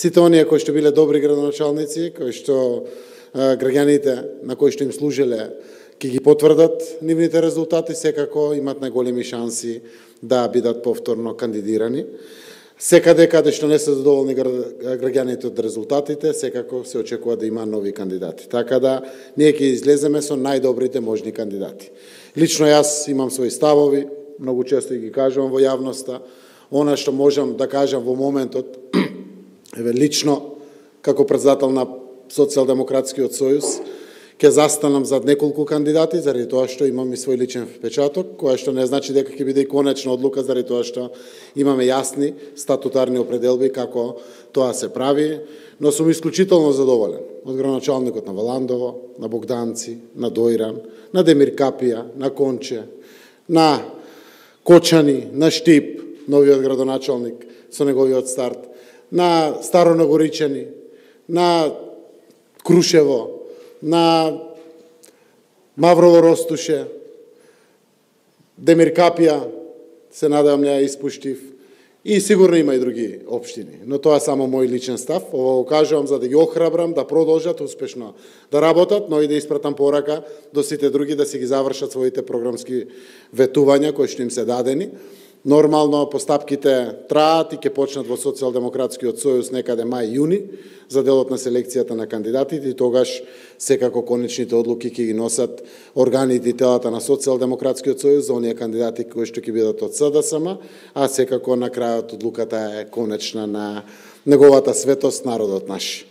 сите оние кои што биле добри градоначалници, кои што граѓаните на кои што им служеле ќе ги потврдат нивните резултати, секако имат најголеми шанси да бидат повторно кандидирани. Секаде каде што не се задоволни граѓаните од резултатите, секако се очекува да има нови кандидати. Така да ние ќе излеземе со најдобрите можни кандидати. Лично јас имам своји ставови, многу често ги кажувам во јавноста. Она што можам да кажам во моментот, лично како председател на Социјалдемократскиот сојуз, ќе застанам зад неколку кандидати, заради тоа што имам и свој личен впечаток, која што не значи дека ќе биде и конечна одлука, заради тоа што имаме јасни статутарни определби како тоа се прави, но сум исклучително задоволен од градоначалникот на Валандово, на Богданци, на Дојран, на Демир Капија, на Конче, на Кочани, на Штип, новиот градоначалник со неговиот старт, на Старонагоричани, на Крушево, на Маврово Ростуше, Демир Капија, се надевам не ја испуштив, и сигурно има и други општини. Но тоа е само мој личен став. Ово го кажувам за да ги охрабрам да продолжат успешно да работат, но и да испратам порака до сите други да си ги завршат своите програмски ветувања кои што им се дадени. Нормално постапките траат и ќе почнат во Социјалдемократскиот сојуз некаде мај-јуни за делот на селекцијата на кандидатите и тогаш секако конечните одлуки ќе ги носат органите и телата на Социјалдемократскиот сојуз за оние кандидати кои што ќе бидат од СДСМ, а секако на крајот одлуката е конечна на неговата светост, народот наш.